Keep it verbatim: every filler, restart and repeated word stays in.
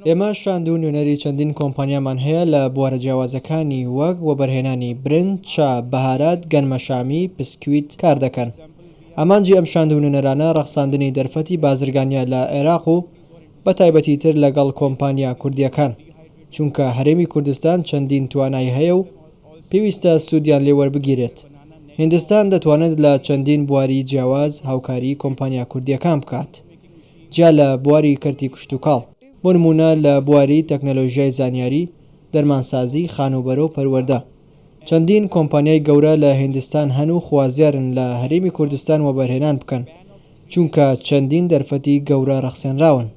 ئێمە شاند و نوێنەری چەندین کۆمپانیامان هەیە لە بوارە جیاوازەکانی وەک وەبەرهێنانی برنج، چا، بەهارات، گەنمەشامی، پسکویت کار دەکەن. ئامانجی ئەم شاند و نوێنەرانە ڕەخساندنی دەرفەتی بازرگانییە لە عێراق و بە تایبەتیتر لەگەڵ کۆمپانیا کوردییەکان، چونکە هەرێمی کوردستان چەندین توانای هەیە و پێویستە سوودیان لێ وەربگیرێت. هیندستان دەتوانێت لە چەندین بواری جیاواز هاوکاریی کۆمپانیا کوردییەکان بکات، جیا لە بواری کەرتی کشتوکاڵ، بۆ نموونە لە بواری تەکنەلۆژیای زانیاری، دەرمانسازی، خانووبەرە و پەروەردە. چەندین کۆمپانیای گەورە لە هیندستان هەن و خوازیارن لە هەرێمی کوردستان وەبەرهێنان بکەن، چونکە چەندین دەرفەتی گەورە ڕەخسێنراون.